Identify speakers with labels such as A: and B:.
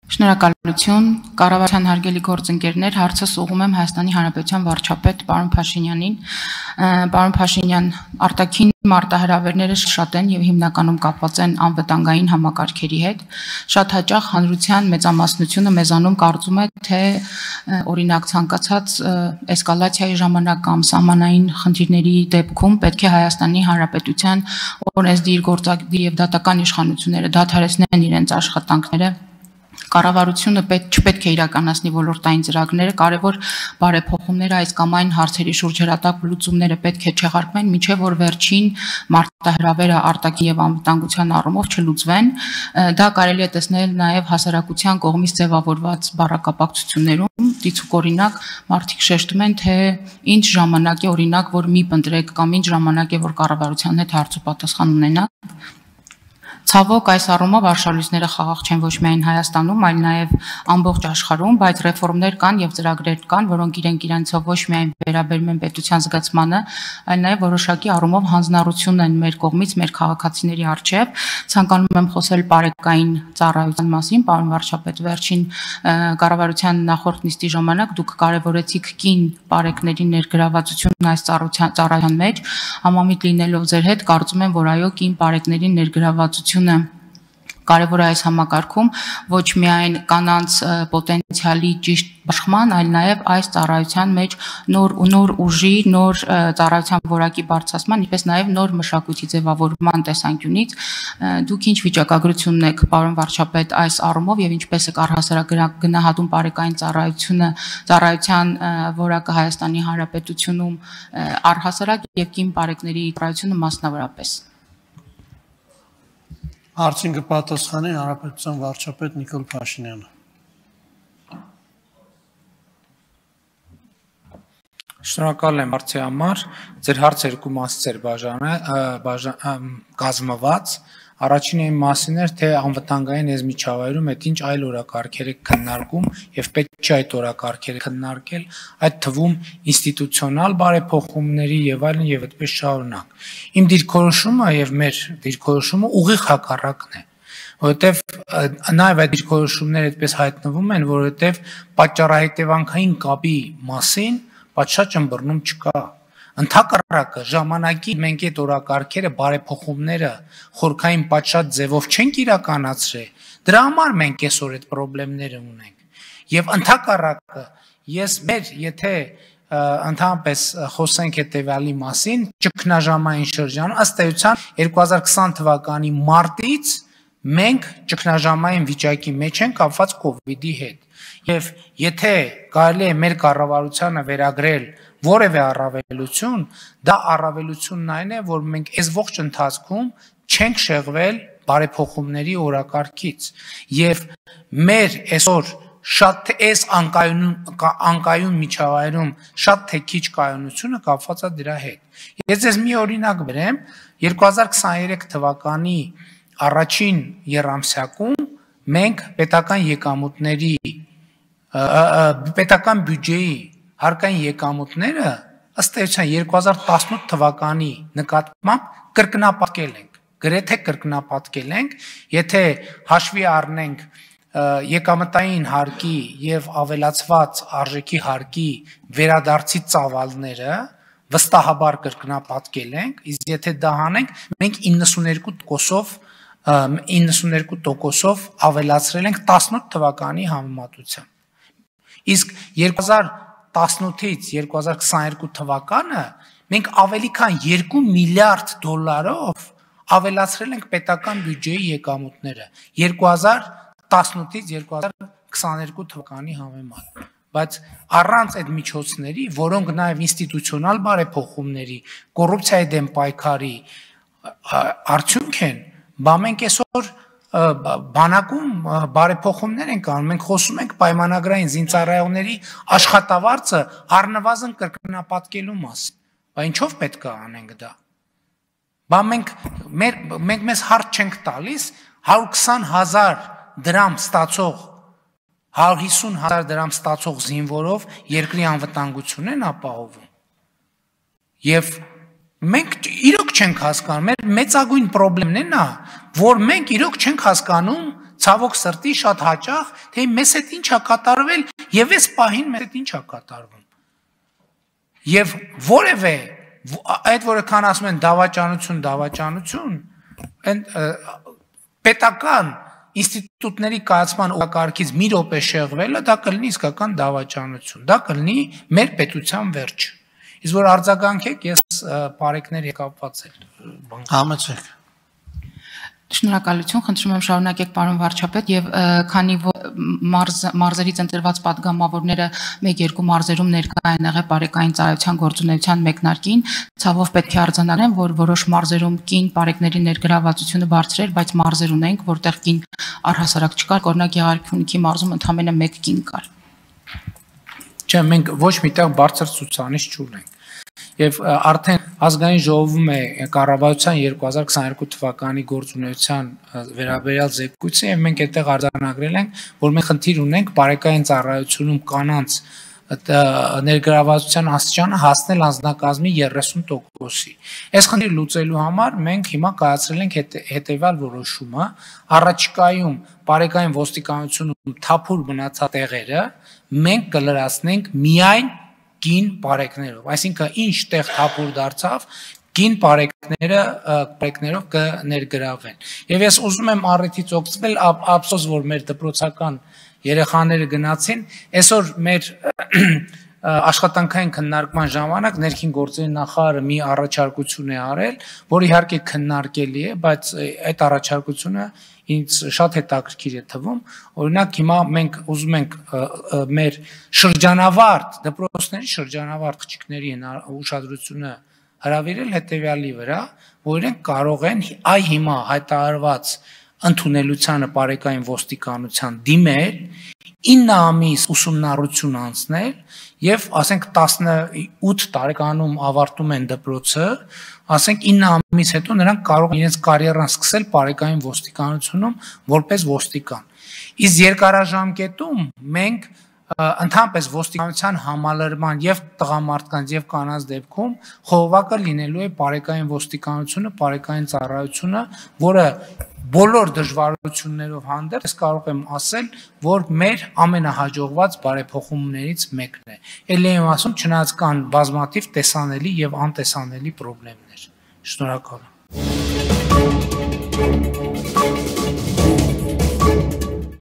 A: Շնորհակալություն, կառավարության հարգելի գործընկերներ, հարցս ուղղում եմ Հայաստանի Հանրապետության վարչապետ պարոն Փաշինյանին։ Պարոն Փաշինյան, արտաքին մարտահրավերները շատ են եւ հիմնականում կապված են անվտանգային համակարգերի հետ։ Շատ հաճախ հանրության մեծամասնությունը մեզանում կարծում է, թե օրինակ ցանկացած էսկալացիայի ժամանակ կամ սահմանային խնդիրների դեպքում պետք է Հայաստանի Հանրապետության օրենսդիր, գործադիր եւ դատական իշխանությունները դադարեցնեն իրենց աշխատանքները։ Կառավարությունը չպետք է իրականացնի ոլորտային ծրագրերը, կարևոր բարեփոխումները այս կամ այն հարցերի շուրջ հրատապ լուծումները պետք է չեղարկվեն, մինչև որ վերջին մարտահրավերը արտաքին եւ անվտանգության առումով չլուծվեն։ Դա կարելի է տեսնել նաեւ հասարակության կողմից ձևավորված բառակապակցություններում, դիցուկ օրինակ մարդիկ շեշտում են, թե ինչ ժամանակ է օրինակ, որ մի փնտրեք կամ ինչ ժամանակ է, որ կառավարության հետ հարց ու պատասխան ունենաք։ Ցավոք այս առումով արշալույսները խաղաղ չեն ոչ միայն Հայաստանում, այլ նաև ամբողջ աշխարհում, բայց ռեֆորմներ կան եւ ծրագրեր կան, որոնք իրենցով ոչ միայն վերաբերում են պետության զգացմանը, այլ նաև որոշակի առումով հանձնառություն են մեր կողմից, մեր քաղաքացիների առջև։ Ցանկանում եմ խոսել բարեկային ծառայության մասին, պարոն վարչապետ, վերջին կառավարության նախորդ նիստի ժամանակ դուք կարևորեցիք կին բարեկների ներգրավվածությունն այս ծառայության մեջ, համամիտ լինելով ձեր հետ, կարծում եմ, որ այո, կին բարեկների ներգրավվածություն կարևոր է այս համակարգում ոչ միայն կանանց պոտենցիալի ճիշտ բաշխման, այլ նաև այս ծառայության մեջ նոր ուժի, նոր ծառայության որակի բարձրացման, ինչպես նաև նոր մշակույթի ձևավորման տեսանկյունից։ Դուք ինչ վիճակագրությունն եք, պարոն վարչապետ, այս առումով եւ ինչպես եք առհասարակ գնահատում բարեկային ծառայության որակը Հայաստանի Հանրապետությունում առհասարակ եւ կին բարեկների ծառայությունը մասնավորապես։
B: Հարցին կպատասխանի Հանրապետության վարչապետ Նիկոլ Փաշինյանը։
C: Շնորհակալ եմ հարցի համար, ձեր հարցը երկու մասից էր կազմված, առաջինը իմ մասին էր, թե անվտանգային եզմիջավայրում այդ ինչ այլ օրակարգեր եք քննարկում եւ պետք չէ այդ օրակարգերը քննարկել, այդ թվում ինստիտուցիոնալ բարեփոխումների եւ այլն եւ այդպես շարունակ։ Իմ դիրքորոշումը եւ մեր դիրքորոշումը ուղիղ հակառակն է, որովհետեւ նաեւ այդ դիրքորոշումները այդպես հայտնվում են, որովհետեւ պատճառահետևանքային կապի մասին պատշաճ ըմբռնում չկա։ Ընդհակառակը ժամանակի մենք այդ օրակարգերը բարեփոխումները խորքային պատշաճ ձևով չենք իրականացրել, դրա համար մենք այսօր այդ խնդիրները ունենք։ Եվ ընդհակառակը եթե ընդհանրապես խոսենք հետևյալի մասին, ճգնաժամային շրջանում ըստ էության 2020 թվականի մարտից մենք ճգնաժամային վիճակի մեջ ենք կապված կոവിഡ്ի հետ։ Եվ եթե կարելի է մեր կառավարությանը վերագրել որևէ առավելություն, դա առավելությունն այն է, որ մենք այս ողջ ընթացքում չենք շեղվել բարեփոխումների օրակարգից եւ մեր այսօր շատ այս անկայուն միջավայրում շատ թե քիչ կայունությունը կապված է դրա հետ։ Ես ձեզ մի օրինակ բերեմ, 2023 թվականի առաջին եռամսյակում մենք պետական եկամուտների պետական բյուջեի հարկային եկամուտները ըստ էության 2018 թվականի նկատմամբ կրկնապատկել ենք, գրեթե կրկնապատկել ենք, եթե հաշվի առնենք եկամտային հարկի եւ ավելացված արժեքի հարկի վերադարձի ծավալները, վստահաբար կրկնապատկել ենք, իսկ եթե դա հանենք, մենք 92%-ով ավելացրել ենք 18 թվականի համեմատությամբ։ Իսկ 2018-ից 2022 թվականը մենք ավելի քան 2 միլիարդ դոլարով ավելացրել ենք պետական բյուջեի եկամուտները 2018-ից 2022 թվականի համեմատ։ Բայց առանց այդ միջոցների, որոնք նաև ինստիտուցիոնալ բարեփոխումների, կոռուպցիայի դեմ պայքարի արդյունք են, մենք այսօր բանակում բարեփոխումներ ենք անում, մենք խոսում ենք պայմանագրային զինծառայողների աշխատավարձը առնվազն կրկնապատկելու մասին։ Բայց ինչով պետք է անենք դա։ Մենք մեզ հարց չենք տալիս 120,000 դրամ ստացող 150,000 դրամ ստացող զինվորով երկրի անվտանգությունն են ապահովում։ Եվ մենք իրոք չենք հասկանում, մեր մեծագույն խնդիրն է նա, որ մենք իրոք չենք հասկանում ցավոք սրտի շատ հաճախ, թե մեզ հետ ինչ է կատարվել եւ այս պահին մեզ հետ ինչ է կատարվում։ Եվ որևէ այդ որքան ասում են դավաճանություն, այն պետական ինստիտուտների կայացման օրակարգից մի րոպե շեղվելը դա կլինի իսկական դավաճանություն, դա կլինի մեր պետության վերջը։ Իսկ որ արձագանքեք, ես բարեկներ եկապված եմ։
B: Համեցեք։
A: Շնորհակալություն, խնդրում եմ շարունակեք պարոն վարչապետ եւ քանի որ մարզերից ընտրված падգամավորները 1-2 մարզերում ներկա են եղել բարեկային ծառայության գործունեության մեկնարկին, ցավով պետք է արձանագրեմ, որ որոշ մարզերում կին բարեկների ներգրավվածությունը բարձր էր, բայց մարզեր ունենք, որտեղ կին առհասարակ չկար, օրինակ Գեղարքունիքի մարզում ընդամենը 1 կին կար։
C: Չէ, մենք ոչ միտեղ բարձր ցուցանիշ չունենք։ Եվ արդեն ազգային ժողովում է կառավարության 2022 թվականի գործունեության վերաբերյալ զեկույցը եւ մենք այդտեղ արձանագրել ենք, որ մենք խնդիր ունենք բարեկային ծառայությունում կանանց ներգրավվածության աստիճանը հասնել անձնակազմի 30%-ի։ Այս խնդիրը լուծելու համար մենք հիմա կայացրել ենք հետեւյալ որոշումը, առաջիկայում բարեկային ոստիկանությունում թափուր մնացած տեղերը մենք կլրացնենք միայն կին բարեկներով, այսինքն ինչ տեղ թափուր դարձավ, կին բարեկներով կներգրավեն։ Եվ ես ուզում եմ առիթից օգտվել, ափսոս որ մեր դպրոցական երեխաները գնացին, այսօր մեր աշխատանքային քննարկման ժամանակ ներքին գործերի նախարարը մի առաջարկություն է արել, որ իհարկե քննարկելի է, բայց այդ առաջարկությունը ինձ շատ հետաքրքիր է թվում, օրինակ հիմա մենք ուզում ենք մեր շրջանավարտ, դպրոցների շրջանավարտ աղջիկների ուշադրությունը հրավիրել հետևյալի վրա, որ իրենք կարող են այ հիմա հայտարարված ընդունելությանը բարեկային ոստիկանության դիմել, 9 ամիս ուսումնառություն անցնել եւ ասենք 18 տարեկանում ավարտում են դպրոցը, ասենք 9 ամիս հետո նրանք կարող են իրենց կարիերան սկսել բարեկային ոստիկանությունում որպես ոստիկան։ Իսկ երկարաժամկետում մենք ընդհանրապես ոստիկանության համալրման եւ տղամարդկանց եւ կանանց դեպքում խողովակը լինելու է բարեկային ոստիկանությունը, բարեկային ծառայությունը, որը բոլոր դժվարություններով հանդերձ ես կարող եմ ասել, որ մեր ամենահաջողված բարեփոխումներից մեկն է։ Էլի եմ ասում, չնայած կան բազմաթիվ տեսանելի եւ անտեսանելի խնդիրներ։ Շնորհակալ եմ։